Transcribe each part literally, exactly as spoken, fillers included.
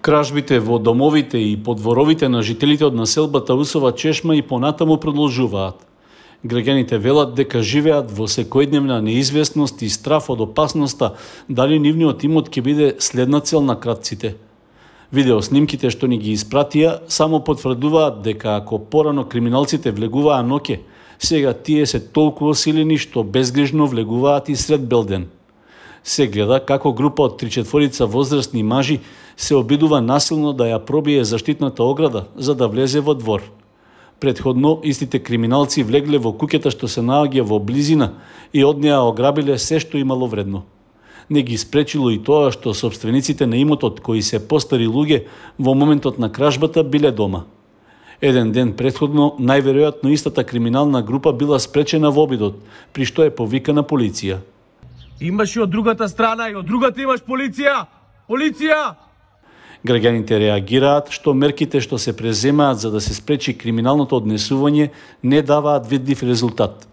Кражбите во домовите и подворовите на жителите од населбата Усова Чешма и понатаму продолжуваат. Граѓаните велат дека живеат во секојдневна неизвестност и страф од опасноста дали нивниот имот ќе биде следна цел на кратците. Видеоснимките што ни ги испратија само потврдуваат дека ако порано криминалците влегуваа ноќе, сега тие се толку осилени што безгрижно влегуваат и сред белден. Се гледа како група од три-четворица возрастни мажи се обидува насилно да ја пробие заштитната ограда за да влезе во двор. Предходно, истите криминалци влегле во куќата што се наоѓа во близина и од неа ограбиле се што имало вредно. Не ги спречило и тоа што собствениците на имотот, кои се постари луѓе, во моментот на кражбата биле дома. Еден ден предходно, најверојатно истата криминална група била спречена во обидот, при што е повикана полиција. Имаш и од другата страна, и од другата имаш полиција! Полиција! Граѓаните реагираат што мерките што се преземаат за да се спречи криминалното однесување не даваат видлив резултат.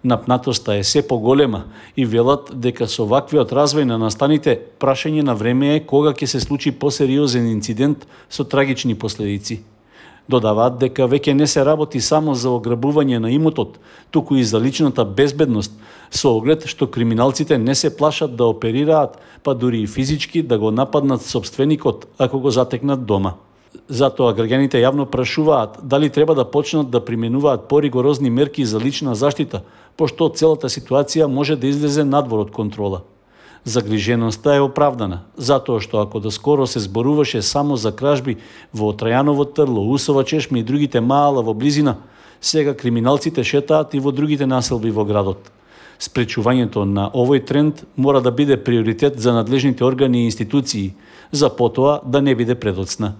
Напнатоста е се поголема и велат дека со ваквиот развој на настаните прашање на време е кога ќе се случи посериозен инцидент со трагични последици. Додаваат дека веќе не се работи само за ограбување на имотот, туку и за личната безбедност, со оглед што криминалците не се плашат да оперираат, па дури и физички да го нападнат собственикот ако го затекнат дома. Затоа граѓаните јавно прашуваат дали треба да почнат да применуваат поригорозни мерки за лична заштита, пошто целата ситуација може да излезе надвор од контрола. Загриженоста е оправдана, затоа што ако доскоро се зборуваше само за кражби во Трајаново Трло, Усова Чешма и другите маала во близина, сега криминалците шетаат и во другите населби во градот. Спречувањето на овој тренд мора да биде приоритет за надлежните органи и институции, за потоа да не биде предоцна.